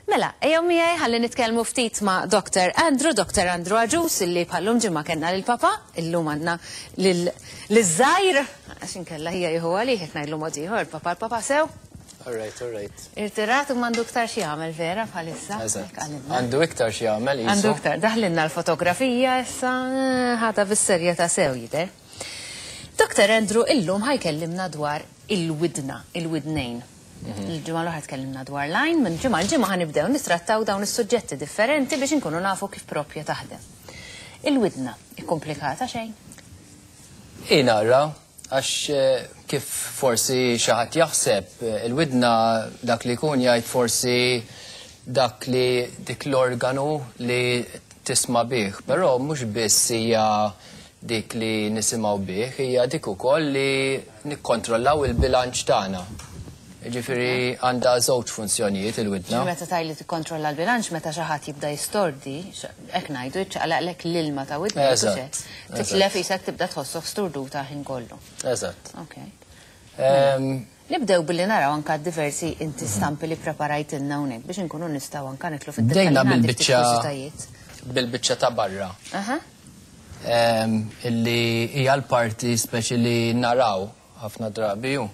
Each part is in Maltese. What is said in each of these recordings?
Mela, ejjew miegħi ħalli nitkellmu ftit ma' Dr. Andrew, Dr. Andrew Agius, illi bħallum ġimgħa kellna lil papa, illum għandna lil żgħir, għax inkella hija jieħu għalih jekk ngħidlu mod ieħor, papa l-papa sew. All right, all right. Irtirat u m'għandu iktar xi jagħmel vera bħalissa. Eżatt. Hekk qalilna. Għandu iktar xi jagħmel Għandu qisu. iktar, daħlinna l-fotografija issa, ħadha bis-serjetà sew jidher. Dr. Andrew illum ħa jkellimna dwar il-widna, il-widnejn. Il-ġimgħa l-oħra tkellimna dwar l-għajn, minn ġimgħa l-ġimgħa ħa nibdew nittrattaw dawn is-suġġetti differenti biex inkunu nafu kif propja taħdem. Il-widna, ikkomplikata xejn? I nara, għax kif forsi xi ħadd jaħseb, il-widna dak li jkun jgħid forsi dak li dik l-organu li tisma' bih, però mhux biss hija dik li nisimgħu bih, hija dik ukoll li nikkontrollaw il-bilanċ tagħna. Ġifieri għandha żewġ funzjonijiet il-widna. Meta tgħid li tikkontrolla l-bilanċ meta xi ħadd jibda jistordi, hekk ngħidu jiċċaqlaqlek l-ilma ta' widna. Titlef isek tibda tħossok sturduta ħin kollu. Eżatt. Ok. Nibdew billi naraw anka diversi inti stampi li preparajtilna hawnhekk biex inkunu nistgħu anka nidħlu fid-dettalji. Bdejna għandi ftit bil-biċċa kurżitajiet. bil-biċċa ta' barra. Illi hija l-parti speċi li naraw ħafna drabi ju.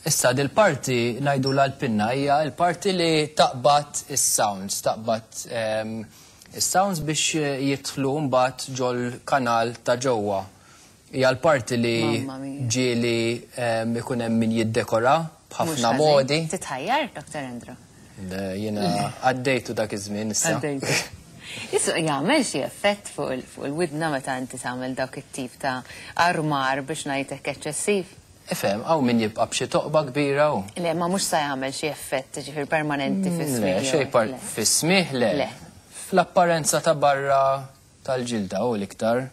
Issa dil-parti ngħidu l-pinna hija l-parti li taqbad is-sounds, taqbad is-sounds biex jidħlu mbagħad ġol kanal ta' ġewwa. Hija l-parti li Mamma mia. ġieli ikun hemm min jiddekora Mhux b'ħafna ħażin. modi. Titħajjar, Dr. Andrew? Le, jiena għaddejtu dak iż-żmien issa. Għaddejtu. Issu jagħmel xi effett fuq il-widna meta inti tagħmel dawk it-tip ta' armar biex ngħidlek eċċessiv? Ifhem, hawn min jibqa' b'xi toqba kbira u. Le, ma mhux sa jagħmel xi effett ġifier permanenti Le, fis-smigħ. xej par fis-smigħ le. Le. Fl-apparenza ta' barra tal-ġilda u l-iktar.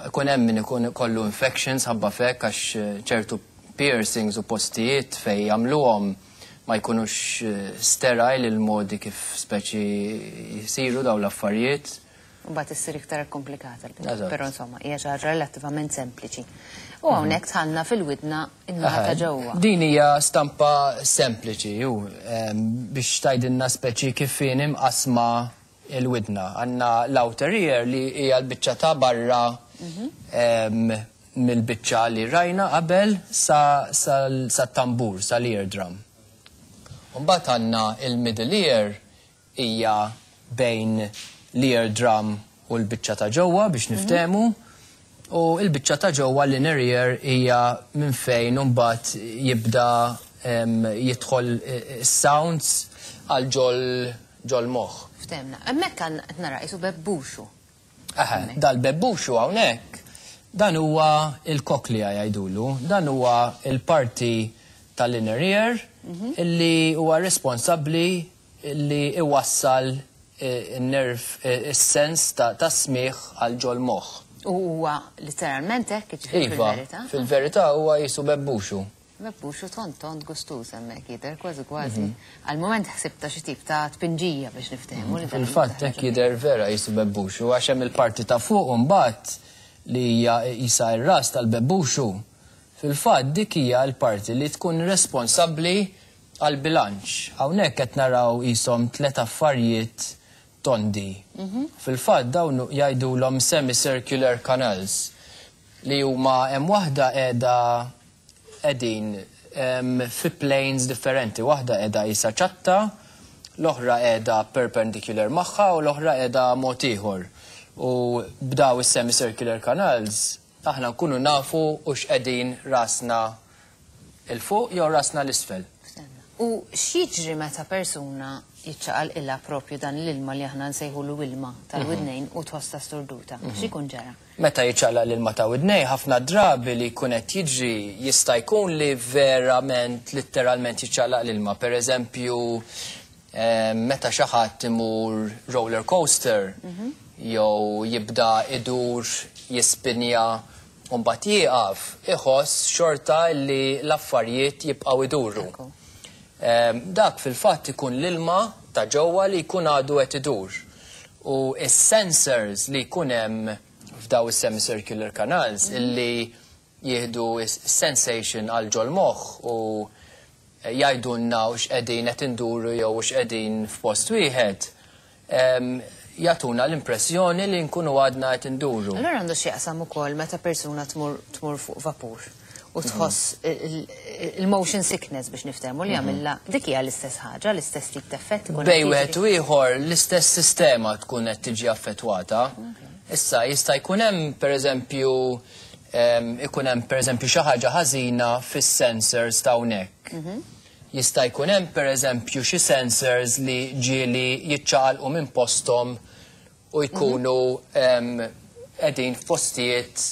Ikun hemm min ikun kollu infections ħabba fek għax ċertu piercings u postijiet fej jagħmluhom ma jkunux sterile il-modi kif speċi jisiru daw l-affarijiet. Mbagħad issir iktar komplikata l-biċċa. Eżatt. Però insomma, hija xi ħaġa relattivament sempliċi. U hawnhekk dħalna fil-widna in-naħa ta' ġewwa. Din hija stampa sempliċi ju, biex tgħidilna speċi kif inhi mqasma il-widna. Għandna l-outer ear li hija l-biċċa ta' barra mill-biċċa li rajna qabel sa tambur, sa l-eardrum. Mbagħad għandna il-middle ear hija bejn l-eardrum u l-biċċa ta' ġewwa biex niftehmu. U l-biċċa ta' ġewwa l-inner ear hija minn fejn mbagħad jibda jidħol sounds għal ġol moħħ. Ftehmna. Hemmhekk għandna qed nara qisu bebbuxu. Aha, dal-bebbuxu hawnhekk dan huwa il-cochlea jgħidulu, dan huwa il-parti tal-inner ear illi huwa responsabbli illi iwassal il-nerv, is-sens ta' smigħ għal ġol moħħ. U huwa literalment hekk jiġifieri Iva, fil-verità? fil-verità huwa qisu bebbuxu. Bebbuxu tont tont gustuż hemmhekk jidher kważi kważi. Għal-moment ħsibta xi tip ta' tpinġija biex niftehmu li dan Fil-fatt hekk jidher vera qisu bebbuxu għax hemm il-parti ta' fuq u mbagħad li hija qisha r-ras tal-bebbuxu. Fil-fatt dik hija l-parti li tkun responsabbli għal-bilanċ. Hawnhekk qed naraw qishom tliet affarijiet tondi. Fil-fatt dawn jgħidulhom semicircular canals li huma hemm waħda qiegħda qegħdin fi planes differenti. Waħda qiegħda qisha ċatta, l-oħra qiegħda perpendicular magħha u l-oħra qiegħda mod ieħor. U b'daw is-semicircular canals aħna nkunu nafu u x'qegħdin rasna 'l fuq jew rasna 'l isfel. U x'jiġri meta persuna jiċċaqalqilha propju dan l-ilma li aħna nsejħulu ilma tal-widnejn u tħossha sturduta? X'ikun ġara? Meta jiċċaqlaq l-ilma ta' widnej, ħafna drabi li jkun qed jiġri jista' jkun li verament literalment jiċċaqlaq l-ilma. Per eżempju, meta xi ħadd imur roller coaster jew jibda idur jispinja u mbagħad jieqaf, iħoss xorta li l-affarijiet jibqgħu iduru. Dak fil-fatt ikun l-ilma ta' ġewwa li jkun għadu qed idur. U is-sensors li jkun hemm f'daw is-semicircular canals illi jieħdu sensation għal ġol moħħ u jgħidulna hux qegħdin qed induru jew hux qegħdin f'post wieħed, jagħtuna l-impressjoni li nkunu għadna qed induru. Allura għandu x'jaqsam ukoll meta persuna tmur tmur fuq vapur u tħoss il-motion sickness, biex niftehmu, li jagħmilha, dik hija l-istess ħaġa, l-istess tip ta' effett ikun Bejn qed wieħed jiġri. u ieħor l-istess sistema tkun qed tiġi affettwata. Issa jista' jkun hemm, pereżempju, ikun hemm, pereżempju, xi ħaġa ħażina fis-sensors ta' hawnhekk. Jista' jkun hemm, pereżempju, xi sensors li ġieli jiċċaqalqu minn posthom u jkunu qegħdin f'postijiet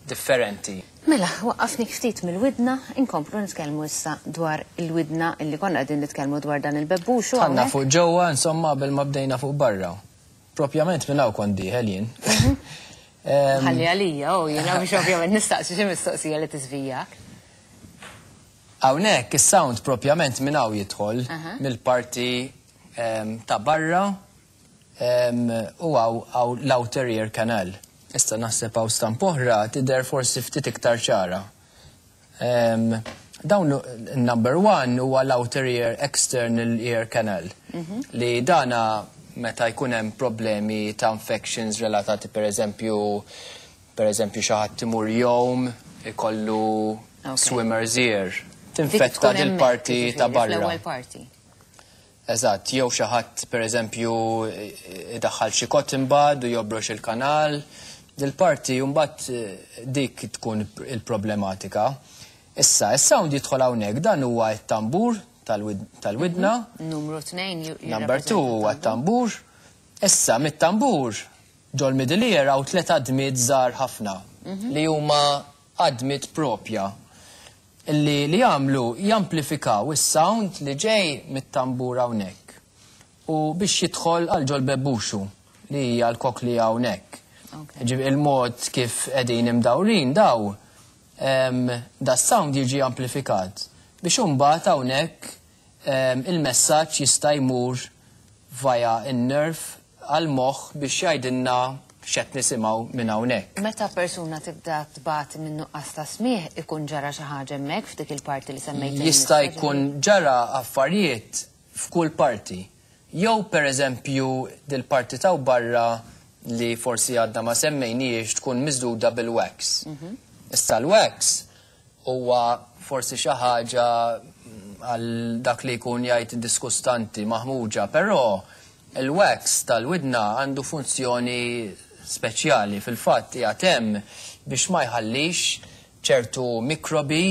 differenti. Mela, waqqafni ftit mill-widna, inkomplu nitkellmu issa dwar il-widna illi konna qegħdin nitkellmu dwar dan il-bebbux u Għandna hawnhekk. fuq ġewwa, insomma, qabel ma bdejna fuq barra. Propjament minn hawn kont dieħel jien. Ħalli għalija, u jiena biex ovvjament nistaqsi xi mistoqsija li tiżvijak. Hawnhekk is-sound propjament minn hawn jidħol mill-parti ta' barra u hawn l-outer ear canal. Issa naħseb hawn stamp oħra tidher forsi ftit iktar ċara. Dawn number 1 huwa l-outer ear, external ear canal, li dana meta jkun hemm problemi ta' infections relatati, per eżempju xi ħadd imur jgħum, ikollu swimmer's ear. Dik Tinfetta tkun dil hemmhekk, parti ta' jiġifieri, barra. fl-ewwel parti. Eżatt, jew xi ħadd, pereżempju, idaħħal xi cotton bud u jobrox il-kanal. Dil-parti mbagħad dik tkun il-problematika. Issa, is-sound jidħol hawnhekk, dan huwa t-tambur tal-widna. Numru 2. Number 2 huwa t-tambur. Issa, mit-tambur ġol middle ear hawn tliet għadmiet żgħar ħafna li huma għadmiet propja illi li jagħmlu jamplifikaw is-sound li ġej mit-tambur hawnhekk u biex jidħol għal ġol bebbuxu li hija l-cochlea hawnhekk. Il-mod kif qegħdin imdawrin daw, da sound jiġi amplifikat biex imbagħad hawnhekk il-messaġġ jista' jmur via in-nerve għal-moħħ biex jgħidilna x'qed nisimgħu minn hawnhekk. Meta persuna tibda tbati minn nuqqas ta' smieħ, ikun ġara xi ħaġa hemmhekk f'dik il-parti li semmejt? Jista' jkun ġara affarijiet f'kull parti. Jew, per eżempju, dil-parti ta' barra li forsi għadna ma semmejniex tkun miżduda bil-wax. Issa l-wax huwa forsi xi ħaġa għal dak li jkun jgħid diskustanti, maħmuġa, però il-wax tal-widna għandu funzjoni speċjali. Fil-fatt qiegħed hemm biex ma jħallix ċertu mikrobi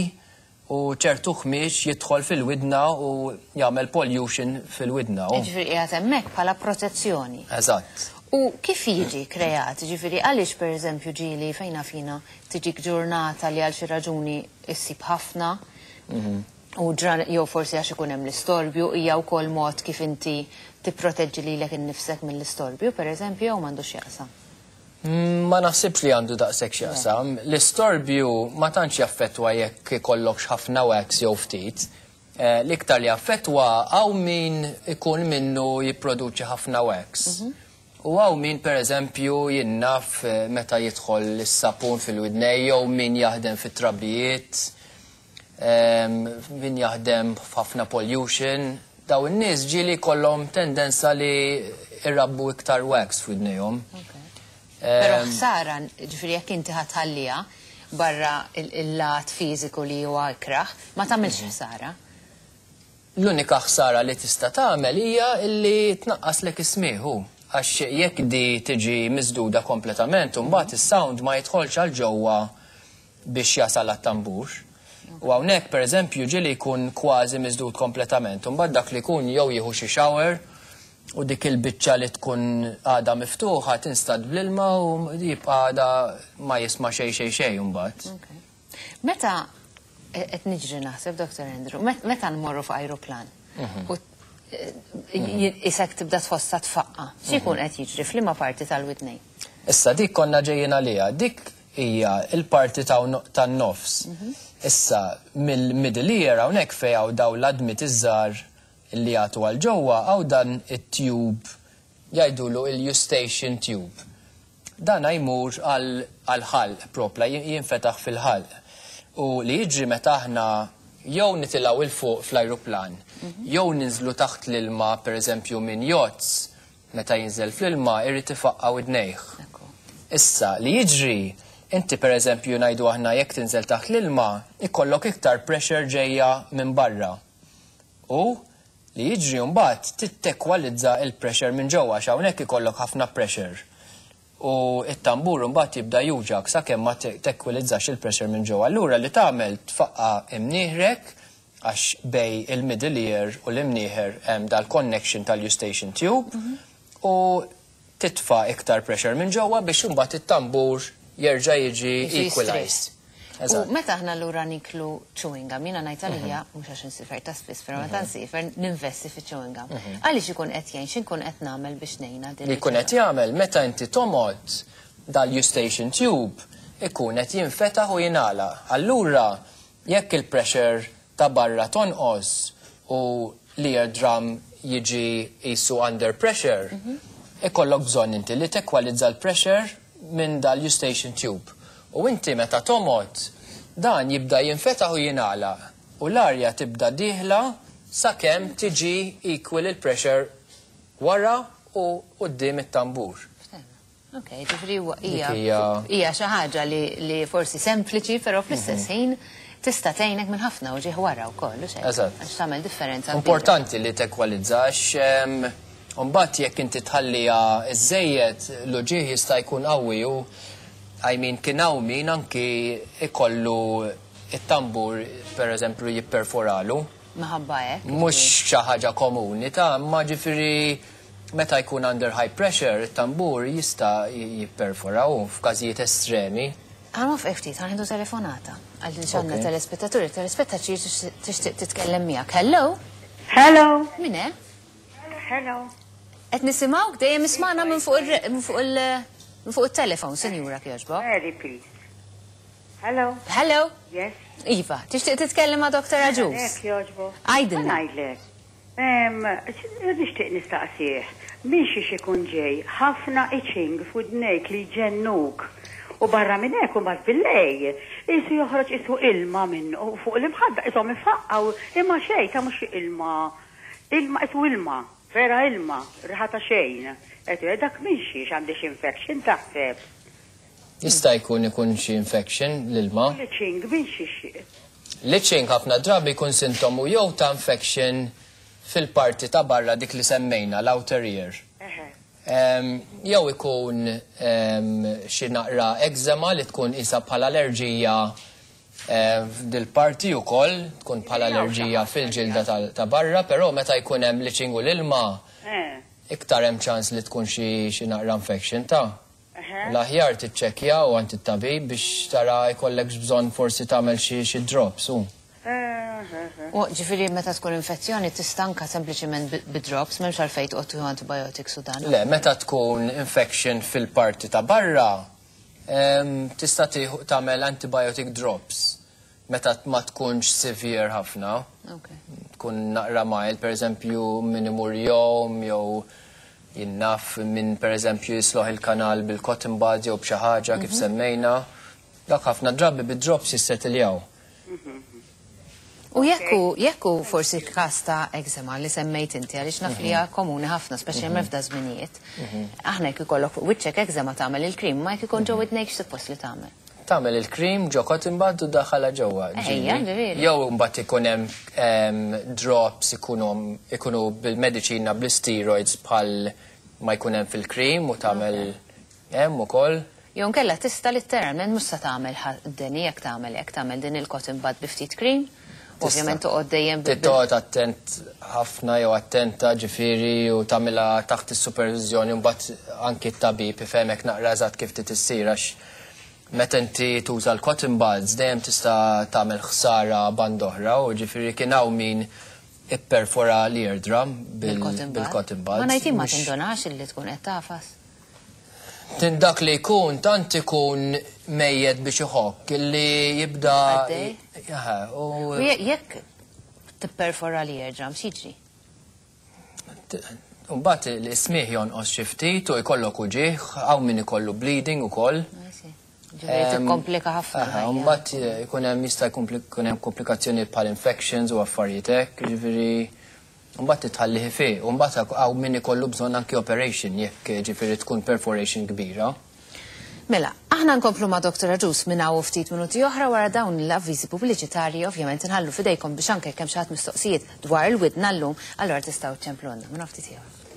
u ċertu ħmieġ jidħol fil-widna u jagħmel pollution fil-widna. Ġifieri qiegħed hemmhekk bħala protezzjoni. Eżatt. U kif jiġi kreat? Ġifieri għaliex, per eżempju, ġieli fejna fina tiġik ġurnata li għal xi raġuni issib ħafna u ġran jew forsi għax ikun hemm l-istorbju, hija wkoll mod kif inti tipproteġġi lilek innifsek mill-istorbju, per eżempju, jew m'għandux x'jaqsam? Ma naħsibx li għandu daqshekk x'jaqsam. L-istorbju ma tantx jaffettwa jekk ikollokx ħafna wax jew ftit. L-iktar li jaffettwa hawn min ikun minnu jipproduċi ħafna wax. U hawn min, per eżempju, jinnaf meta jidħol is-sapun fil-widnej jew min jaħdem fit-trabijiet, min jaħdem f'ħafna pollution. Daw in-nies ġieli kollhom tendenza li irabbu iktar wax f'widnejhom. Però ħsara, ġifieri jekk inti ħa tħalliha barra il-lat fiżiku li huwa ikraħ, ma tagħmilx ħsara. L-unika ħsara li tista' tagħmel hija li tnaqqaslek is-smieħu. Għax jekk di tiġi miżduda kompletament, mbagħad is-sound ma jidħolx għal ġewwa biex jasal għat-tambur. U hawnhekk, pereżempju, ġieli jkun kważi miżdud kompletament. Mbagħad dak li jkun jew jieħu xi shower u dik il-biċċa li tkun għada miftuħa tinstad bl-ilma u jibqa' għada ma jisma' xejn xejn xejn mbagħad. Meta qed niġri naħseb, Dr. Andrew, meta nmorru f'ajruplan u isek tibda tħossa tfaqqa, x'ikun qed jiġri, f'liema parti tal-widnejn? Issa dik konna ġejjin għaliha, dik hija il-parti tan-nofs. Issa mill-middle ear hawnhekk fejn hawn daw l-għadmiet iż-żgħar li jagħtu għal ġewwa, hawn dan it-tube, jgħidulu il-Eustachian tube. Dan jmur għal ħalq propla, jinfetaħ fil-ħalq. U li jiġri meta aħna jew nitilgħu 'il fuq fl-ajruplan, jew ninżlu taħt l-ilma pereżempju minn yachts, meta jinżel fl-ilma jrid ifaqqa' widnejh. Issa, li jiġri, inti pereżempju ngħidu aħna jekk tinżel taħt l-ilma, ikollok iktar pressure ġejja minn barra. U li jiġri mbagħad trid tekwalizza l-pressure minn ġewwa għax hawnhekk ikollok ħafna pressure. U t-tambur imbagħad jibda juġgħek sakemm ma tekwilizzax il-pressure minn ġewwa. Allura li tagħmel tfaqqa' imnieħrek għax bejn il-middle ear u l-imnieħer hemm dal-connection tal-eustachian tube u titfa' iktar pressure minn ġewwa biex imbagħad it-tambur jerġa' jiġi equalized. U meta aħna allura niklu chewing gum, jiena ngħid għalija, mhux għax insifer ta' spiss, però meta nsifer ninvesti fi chewing gum. Għaliex ikun qed jgħin, x'inkun qed nagħmel biex ngħinha din? Li jkun qed jagħmel meta inti tomgħod dal-eustachian tube ikun qed jinfetaħ u jingħalaq. Allura jekk il-pressure ta' barra tonqos u l-ear drum jiġi qisu under pressure, ikollok bżonn inti li tekwalizza l-pressure minn dal-eustachian tube. U inti meta tomgħod, dan jibda jinfetaħ u jingħalaq u l-arja tibda dieħla sakemm tiġi equal il-pressure wara u quddiem it-tambur. Ok, ġifieri huwa hija hija xi ħaġa li li forsi sempliċi, però fl-istess ħin tista' tgħinek minn ħafna uġigħ wara wkoll, hux hekk? Eżatt. Għax tagħmel differenza kbira. Importanti li tekwalizza għax imbagħad jekk inti tħalliha żżejjed l-uġigħ jista' jkun qawwi u I mean kien hawn min anki jkollu t-tambur pereżempju jipperforalu. Minħabba hekk. Mhux xi ħaġa komuni ta' imma ġifieri meta jkun under high pressure it-tambur jista' jipperfora u f'każijiet estremi. Ħa nwafqek ftit, ħa nieħdu telefonata. Għaliex għandna telespettaturi, telespettatriċi tixtieq titkellem miegħek. Hello? Hello. Min hemm? Hello. Qed nisimgħuk dejjem ismagħna minn fuq il minn fuq il minn fuq it-telefon, sinjura kjoġbok. Very please. Hello. Hello. Yes. Iva, tixtieq titkellem ma' Dr. Agius? Hekk jogħġbok. Għidilna. Ngħidlek. Nixtieq nistaqsih, minn xiex ikun ġej ħafna itching f'widnejk li jġennuk u barra minn hekk imbagħad billejl qisu joħroġ qisu ilma minn fuq l-imħadda qishom ifaqqgħu imma xejn ta' mhux ilma ilma qisu ilma vera ilma riħa ta' xejn qed dak minn xiex għandi xi infection taħseb? Jista' jkun ikun xi infection l-ilma. L-itching minn xiex? L-itching ħafna drabi jkun sintomu jew ta' infection fil-parti ta' barra dik li semmejna, l-outer ear. Jew ikun xi naqra eczema li tkun qisha bħala allerġija f'dil-parti wkoll, tkun bħala allerġija fil-ġilda ta' barra, però meta jkun hemm l-itching u l-ilma, iktar hemm ċans li tkun xi naqra infection ta'. L-aħjar tiċċekkja u għand it-tabib biex tara jkollekx bżonn forsi tagħmel xi xi drops u. U ġifieri meta tkun infezzjoni tista' anke sempliċiment bi drops m'hemmx għalfejn toqgħod tieħu antibiotics u dan. Le, meta tkun infection fil-parti ta' barra, tista' tieħu tagħmel antibiotic drops meta ma tkunx severe ħafna. Tkun naqra mild, per eżempju min imur jgħum jew jien naf min per eżempju jisloħ il-kanal bil-cotton bud jew b'xi ħaġa kif semmejna. Dak ħafna drabi bid-drops jissetiljaw. U jekk hu jekk hu forsi każ ta' eczema li semmejt inti għaliex naf li hija komuni ħafna speċjalment f'da żminijiet. Aħna jekk ikollok fuq wiċċek eczema tagħmel il-cream, ma jekk ikun ġo widnejk x'suppost li tagħmel? Tagħmel il-cream ġo cotton bud u ddaħħalha ġewwa. Ejja, ġifieri. Jew imbagħad ikun hemm drops ikunu ikunu bil-mediċina bl-isteroids bħal ma jkun hemm fil-cream u tagħmel hemm ukoll. Jew inkella tista' litteralment mhux se tagħmel deni jekk tagħmel hekk, tagħmel din il-cotton bud bi ftit cream. Ovvjament toqgħod dejjem Trid toqgħod attent ħafna jew attenta ġifieri u tagħmilha taħt is-superviżjoni u mbagħad anki t-tabib ifehmek naqra eżatt kif trid issir għax meta inti tuża l-cotton buds dejjem tista' tagħmel ħsara band'oħra u ġifieri kien hawn min ipperfora l-eardrum bil-cotton bil-cotton buds. Ma ngħid jien ma tindunax illi tkun qed tagħfas. Tin dak li jkun tant ikun mejjet biex iħokk illi jibda. Għaddej. U jekk tipperfora l-eardrum x'jiġri? Mbagħad l-ismigħ jonqos xi ftit u jkollok uġigħ, hawn min ikollu bleeding ukoll. Ġifieri tikkomplika ħafna. Mbagħad eh, jkun hemm jista' jkun hemm komplikazzjonijiet bħal infections u affarijiet hekk, ġifieri mbagħad titħallih ifiq, u mbagħad hawn min ikollu bżonn anki operation jekk eh, ġifieri tkun perforation kbira. Mela, aħna nkomplu ma' Dr. Agius minn hawn ftit minuti oħra wara dawn l-avviżi pubbliċitarji ovvjament inħallu fidejkom biex anke kemm xi ħadd mistoqsijiet dwar il-widna llum, allura tistgħu ċċemplulna minn ftit ieħor.